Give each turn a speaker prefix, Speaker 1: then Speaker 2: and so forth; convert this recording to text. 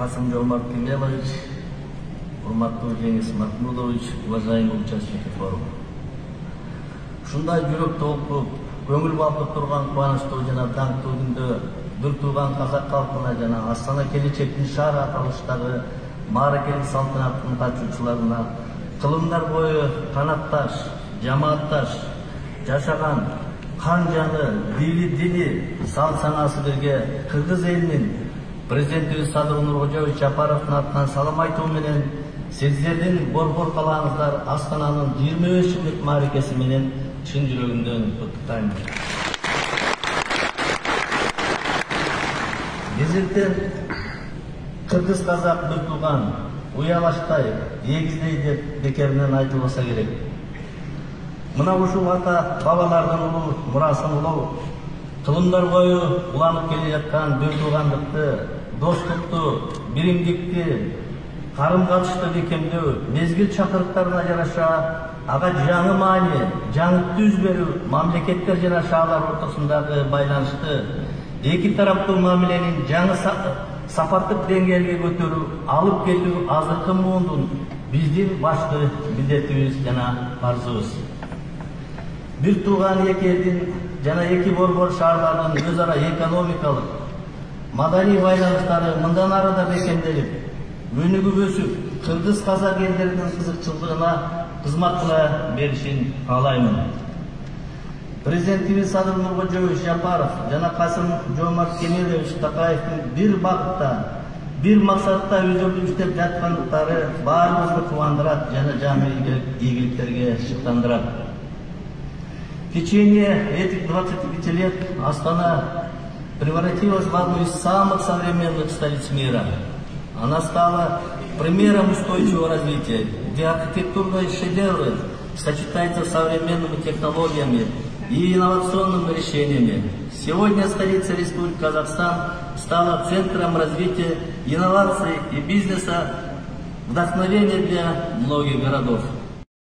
Speaker 1: Касым-Жомарт Кемелович, урматтуу Жеңис Махмудович, уважаемые участники форума. Ушундай жүрөк толкуп, көңүл балкып турган кубанычтуу жана даңктуу күндө бир тууган казак калкына жана Астана келечектин шаар аталыштагы мааракелик салтанаттын катчуучуларына кылымдар бою канатташ, жамаатташ жашаган кан жаны, дили, салт-санаасы бирге кыргыз элинин президентибиз Садыр Нуркожоевич Жапаровдун атынан салам айтуу менен сиздердин борбор калаңыздар Астананын 25 жылдык мааракеси менен чын жүрөгүмдөн куттуктайм. Бизден кыргыз казак бир тууган, уялаштай, эгиздей деп бекеринен айтылбаса керек. Мына ушул ата бабалардын улуу мурасын улоо, кылымдар бою уланып келе жаткан бир туугандыкты, достукту, биримдикти, карым-катышты бекемдөө, мезгил чакырыктарына жараша ага жаңы маани, жаңы түз берүү, мамлекеттер жана шаарлар ортосундагы байланышты, эки тараптуу мамиленин жаңы сапаттык деңгээлге көтөрүү, алып кетүү азыркы муундун биздин башкы милдетибиз жана парзыбыз. Бир тууган эки элдин жана эки борбор шаарлардын өз ара экономикалык, маданий байланыштары мындан ары да бекемделип, өнүгүп өсүп, кыргыз казак элдеринин кызыкчылыгына кызмат кыла беришин каалаймын. Президентибиз Садыр Нуркожоевич Жапаров жана Касым-Жомарт Кемелович Такаевдин бир багытта, бир максатта өзөрү иштеп жаткандыктары баарыбызды кубандырат жана жаңы ийгиликтерге шыктандырат. В течение этих 25 лет Астана превратилась в одну из самых современных столиц мира. Она стала примером устойчивого развития, где архитектурные шедевры сочетаются с современными технологиями и инновационными решениями. Сегодня столица Республики Казахстан стала центром развития инноваций и бизнеса, вдохновения для многих городов.